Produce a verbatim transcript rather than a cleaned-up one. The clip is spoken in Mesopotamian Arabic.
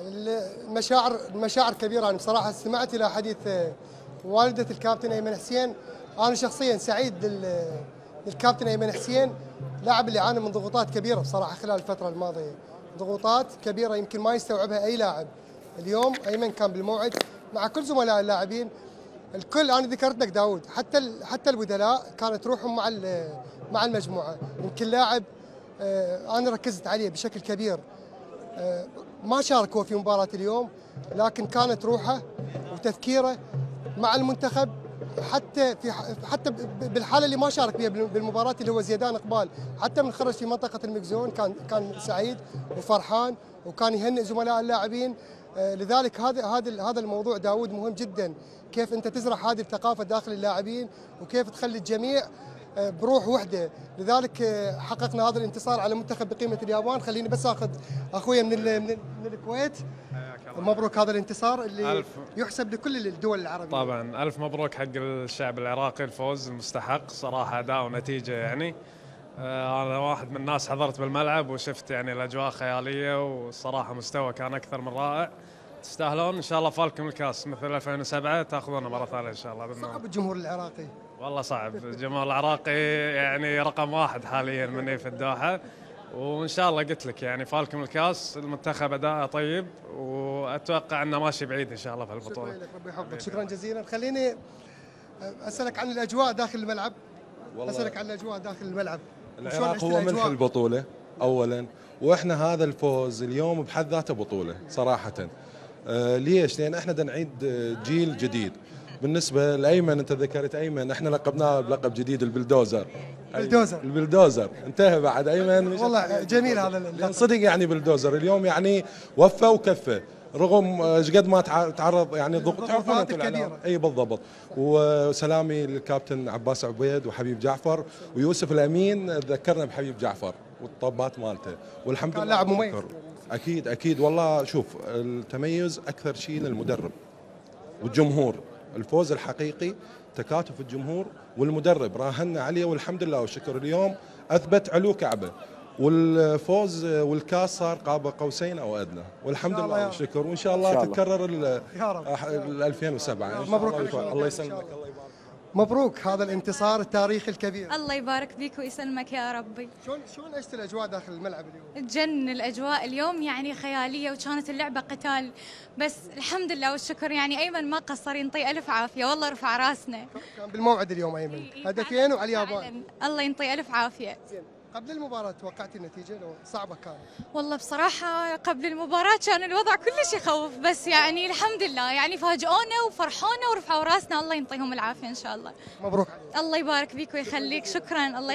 المشاعر المشاعر كبيره. انا بصراحه استمعت الى حديث والده الكابتن ايمن حسين. انا شخصيا سعيد للكابتن ايمن حسين، لاعب اللي عانى من ضغوطات كبيره بصراحه خلال الفتره الماضيه، ضغوطات كبيره يمكن ما يستوعبها اي لاعب. اليوم ايمن كان بالموعد مع كل زملاء اللاعبين، الكل. انا ذكرت لك داوود، حتى حتى البدلاء كانت روحهم مع مع المجموعه. يمكن لاعب انا ركزت عليه بشكل كبير، ما شارك هو في مباراه اليوم، لكن كانت روحه وتفكيره مع المنتخب، حتى في حتى بالحاله اللي ما شارك بها بالمباراه اللي هو زيدان اقبال، حتى من خرج في منطقه المكزون كان كان سعيد وفرحان، وكان يهنئ زملاء اللاعبين. لذلك هذا هذا هذا الموضوع داوود مهم جدا، كيف انت تزرع هذه الثقافه داخل اللاعبين وكيف تخلي الجميع بروح وحده. لذلك حققنا هذا الانتصار على منتخب بقيمه اليابان. خليني بس اخذ اخويا من من, من الكويت. مبروك هذا الانتصار اللي ألف يحسب لكل الدول العربيه. طبعا الف مبروك حق الشعب العراقي، الفوز المستحق صراحه، اداء ونتيجه. يعني انا واحد من الناس حضرت بالملعب وشفت يعني الاجواء خياليه، والصراحه مستوى كان اكثر من رائع. تستاهلون ان شاء الله، فالكم الكاس مثل ألفين وسبعة تاخذونه مره ثانيه ان شاء الله. صعب الجمهور العراقي، والله صعب. الجمهور العراقي يعني رقم واحد حاليا مني في الدوحه، وان شاء الله قلت لك يعني فالكم الكاس. المنتخب اداءه طيب، واتوقع انه ماشي بعيد ان شاء الله في البطوله. شكرا لك، ربي يحفظك، شكرا جزيلا. خليني اسالك عن الاجواء داخل الملعب. اسالك عن الاجواء داخل الملعب. العراق هو ملح البطوله اولا، واحنا هذا الفوز اليوم بحد ذاته بطوله صراحه. آه ليش؟ لان احنا بدنا نعيد جيل جديد. بالنسبه لايمن، انت ذكرت ايمن، احنا لقبناه بلقب جديد البلدوزر. البلدوزر البلدوزر انتهى بعد ايمن. والله جميل هذا اللقب. صدق يعني بلدوزر اليوم يعني وفى وكفى، رغم ايش قد ما تعرض يعني ضغوط تعرفون انتم كبيره. اي بالضبط. وسلامي للكابتن عباس عبيد وحبيب جعفر ويوسف الامين، ذكرنا بحبيب جعفر والطبات مالته، والحمد لله لاعب مميز. اكيد اكيد والله. شوف، التميز اكثر شيء للمدرب والجمهور. الفوز الحقيقي تكاتف الجمهور والمدرب، راهنا عليه والحمد لله والشكر. اليوم اثبت علو كعبه، والفوز والكاس صار قاب قوسين او ادنى، والحمد لله والشكر. وان شاء الله تتكرر ال ألفين وسبعة. مبروك. الله يسلمك، الله يبارك. مبروك هذا الانتصار التاريخي الكبير. الله يبارك فيك ويسلمك يا ربي. شلون شلون عشت الاجواء داخل الملعب اليوم؟ تجن الاجواء اليوم يعني خياليه، وكانت اللعبه قتال، بس الحمد لله والشكر. يعني ايمن ما قصر، ينطي الف عافيه، والله رفع راسنا. كان بالموعد اليوم ايمن، هدفين وعلى اليابان. الله ينطي الف عافيه. زين، قبل المباراة توقعتي النتيجة لو صعبة كانت؟ والله بصراحة قبل المباراة كان الوضع كلش يخوف، بس يعني الحمد لله يعني فاجئونا وفرحونا ورفعوا راسنا. الله ينطيهم العافية إن شاء الله. مبروك. الله يبارك فيك ويخليك، شكرا. الله